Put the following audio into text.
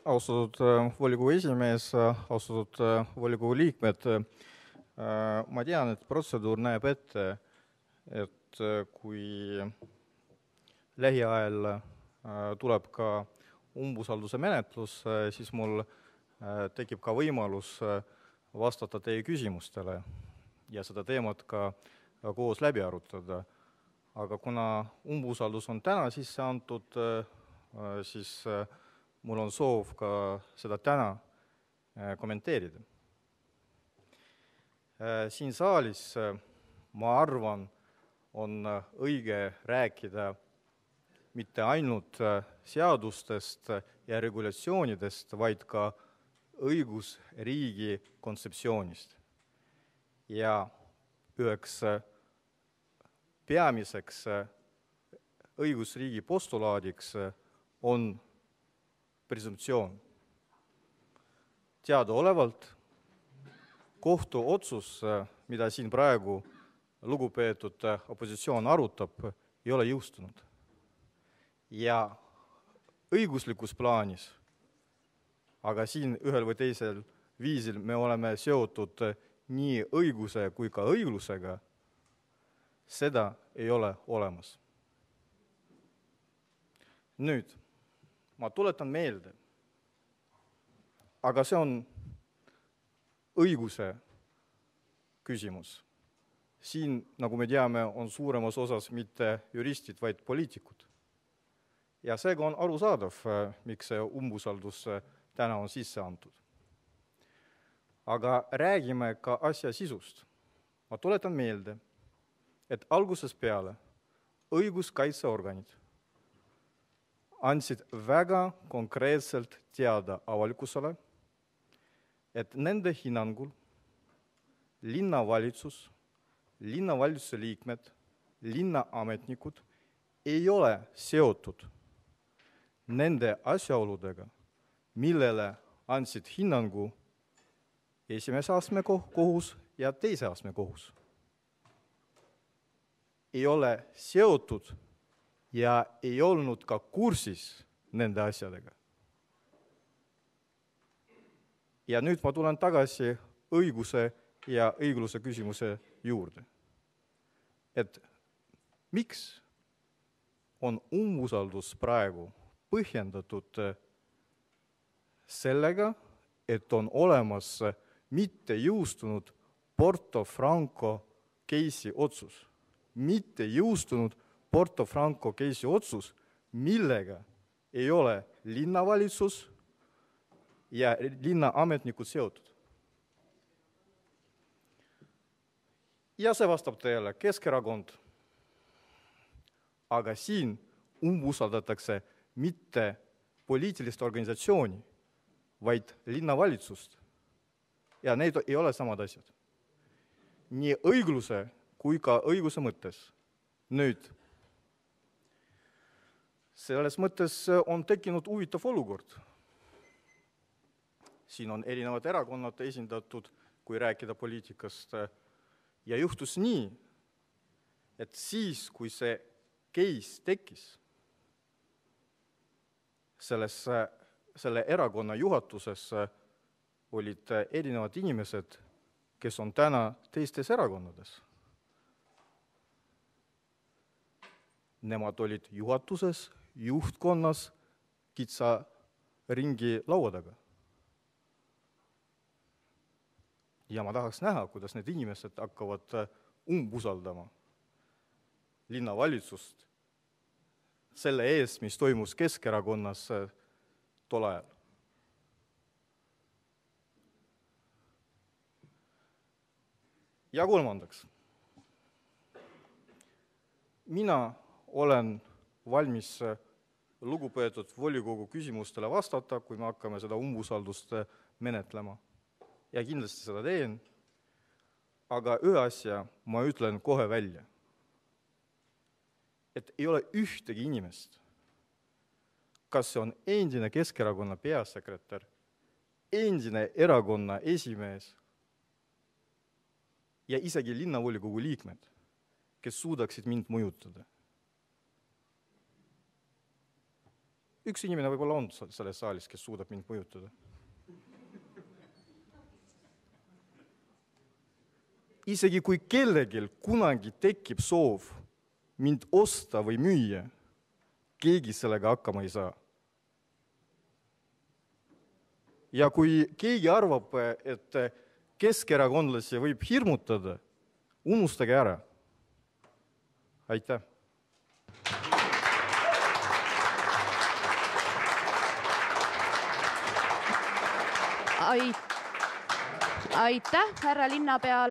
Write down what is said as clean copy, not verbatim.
Austatud volikogu esimees, austatud volikogu liikmed, ma tean, et protseduur näeb ette, et kui lähiajal tuleb ka umbusalduse menetlus, siis mul tekib ka võimalus vastata teie küsimustele ja seda teemat ka koos läbi arutada. Aga kuna umbusaldus on täna sisse antud, siis mul on soov ka seda täna kommenteerida. Siin saalis, ma arvan, on õige rääkida mitte ainult seadustest ja regulatsioonidest, vaid ka õigusriigi kontseptsioonist. Ja üheks peamiseks õigusriigi postulaadiks on presumptsioon. Teadaolevalt kohtuotsus, mida siin praegu lugupeetud opositsioon arutab, ei ole jõustunud. Ja õiguslikus plaanis, aga siin ühel või teisel viisil me oleme seotud nii õiguse kui ka õiglusega, seda ei ole olemas. Nüüd, ma tuletan meelde, aga see on õiguse küsimus. Siin, nagu me teame, on suuremas osas mitte juristid, vaid poliitikud. Ja seega on arusaadav, miks see umbusaldus täna on sisse antud. Aga räägime ka asja sisust. Ma tuletan meelde, et algusest peale õiguskaitseorganid andsid väga konkreetselt teada avalikkusele, et nende hinnangul linnavalitsus, linnavalitsuse liikmed, linnaametnikud ei ole seotud nende asjaoludega, millele andsid hinnangu esimese astme kohus ja teise astme kohus. Ei ole seotud ja ei olnud ka kursis nende asjadega. Ja nüüd ma tulen tagasi õiguse ja õigluse küsimuse juurde. Et miks on umbusaldus praegu põhjendatud sellega, et on olemas mitte jõustunud Porto Franco case'i otsus. Mitte jõustunud Porto Franco case'i otsus, millega ei ole linnavalitsus ja linnaametnikud seotud. Ja see vastab teile Keskerakond. Aga siin umbusaldatakse mitte poliitilist organisatsiooni, vaid linnavalitsust. Ja need ei ole samad asjad. Nii õigluse kui ka õiguse mõttes. Nüüd, selles mõttes on tekkinud huvitav olukord. Siin on erinevad erakonnad esindatud, kui rääkida poliitikast. Ja juhtus nii, et siis, kui see case tekkis, selle erakonna juhatuses olid erinevad inimesed, kes on täna teistes erakonnades. Nemad olid juhatuses, juhtkonnas, kitsa ringi laua taga. Ja ma tahaks näha, kuidas need inimesed hakkavad umbusaldama linnavalitsust selle eest, mis toimus Keskerakonnas tol ajal. Ja kolmandaks. Mina olen valmis lugupeetud volikogu küsimustele vastata, kui me hakkame seda umbusaldust menetlema. Ja kindlasti seda teen, aga ühe asja ma ütlen kohe välja. Et ei ole ühtegi inimest, kas see on endine Keskerakonna peasekretär, endine erakonna esimees ja isegi linnavolikogu liikmed, kes suudaksid mind mõjutada. üks inimene võib-olla on selles saalis, kes suudab mind mõjutada. Isegi kui kellegil kunagi tekib soov mind osta või müüa, keegi sellega hakkama ei saa. Ja kui keegi arvab, et keskerakondlasi võib hirmutada, unustage ära. Aitäh! Aitäh, härra linnapea!